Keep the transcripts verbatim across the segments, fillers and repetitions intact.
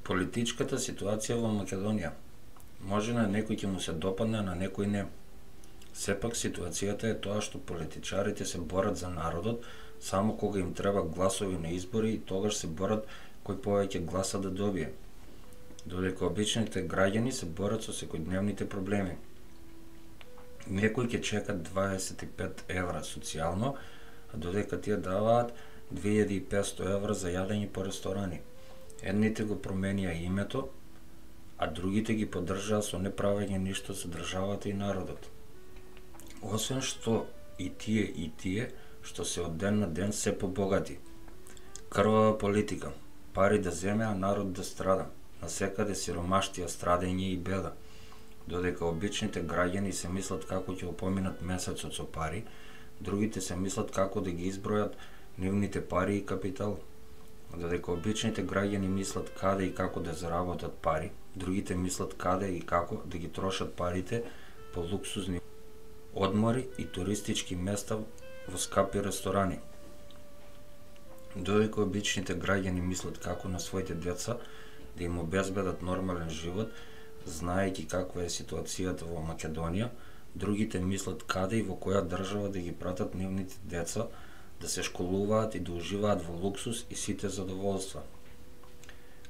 Политичката ситуација во Македонија. Може на некој ќе му се допадне, а на некој не. Сепак ситуацијата е тоа што политичарите се борат за народот само кога им треба гласови на избори и тогаш се борат кој повеќе гласа да добие. Додека обичните граѓани се борат со секојдневните проблеми. Некои ќе чекат дваесет и пет евра социјално, а додека тие даваат две илјади и петсто евра за јадење по ресторани. Едните го променија името, а другите ги поддржаа со неправење ништо за државата и народот. Освен што и тие и тие што се од ден на ден се побогати. Крвава политика, пари да земе, а народ да страда. Насекаде сиромаштија, страдење и беда. Додека обичните граѓани се мислат како ќе опоминат месецот со пари, другите се мислат како да ги избројат нивните пари и капитал. Додека обичните граѓани мислат каде и како да заработат пари, другите мислат каде и како да ги трошат парите по луксузни одмори и туристички места во скапи ресторани. Додека обичните граѓани мислат како на своите деца да им обезбедат нормален живот, знаејќи каква е ситуацијата во Македонија, другите мислат каде и во која држава да ги пратат нивните деца да се школуваат и да уживаат во луксус и сите задоволства.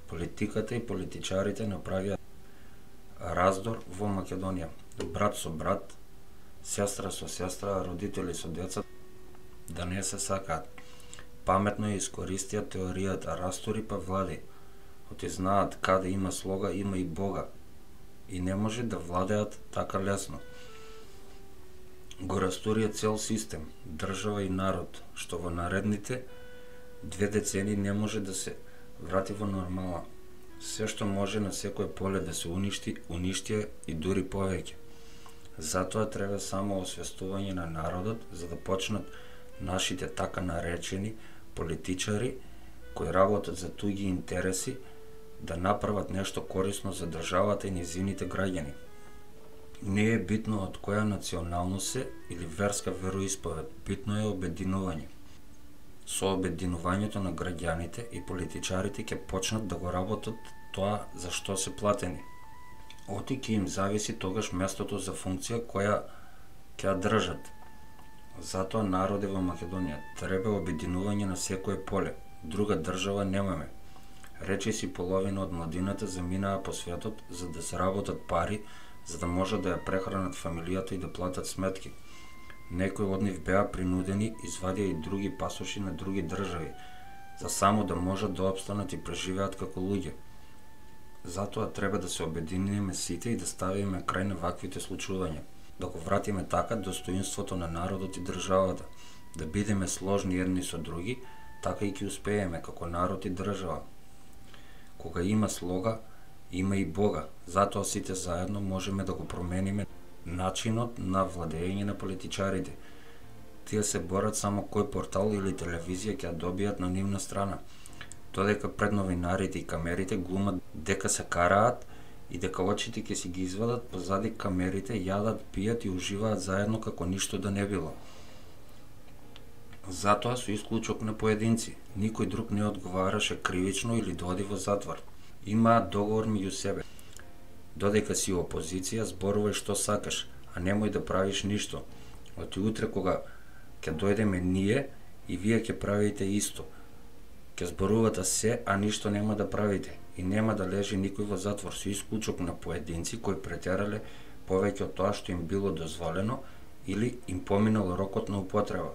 Политиката и политичарите направија раздор во Македонија. Брат со брат, сестра со сестра, родители со деца да не се сакаат. Паметно ја искористија теоријата растори па влади. Оти знаат каде има слога, има и Бога. И не може да владеат така лесно. Го растурија цел систем, држава и народ, што во наредните две децени не може да се врати во нормала. Се што може на секое поле да се уништи, уништија и дури повеќе. Затоа треба само освестување на народот за да почнат нашите така наречени политичари кои работат за туѓи интереси да направат нешто корисно за државата и низините граѓани. Не е битно од која националност се или верска вероисповед, битно е обединување. Со обединувањето на граѓаните и политичарите ќе почнат да го работат тоа за што се платени. Оти ќе им зависи тогаш местото за функција која ќе ја држат. Затоа народе во Македонија треба обединување на секое поле. Друга држава немаме. Речи си половина од младината заминаа по светот за да заработат пари, за да може да ја прехранат фамилијата и да платат сметки. Некои од нив беа принудени, извадија и други пасоши на други држави, за само да можат да опстанат и преживеат како луѓе. Затоа треба да се обединиме сите и да ставиме крај на ваквите случувања, да го вратиме така достоинството на народот и државата, да бидеме сложни едни со други, така и ќе успееме како народ и држава. Кога има слога, има и Бога, затоа сите заедно можеме да го промениме начинот на владење на политичарите. Тие се борат само кој портал или телевизија ќе ја добијат на нивна страна, додека пред новинарите и камерите глумат дека се караат и дека очите ќе си ги извадат позади камерите, јадат, пијат и уживаат заедно како ништо да не било. Затоа со исклучок на поединци, никој друг не одговараше кривично или да оди во затвор. Имаат договор меѓу себе. Додека си опозиција, зборувај што сакаш, а немој да правиш ништо. Оти утре кога ќе дојдеме ние и вие ќе правите исто. Ќе зборувате се, а ништо нема да правите и нема да лежи никој во затвор со исклучок на поединци кои претерале повеќе од тоа што им било дозволено или им поминал рокот на употреба.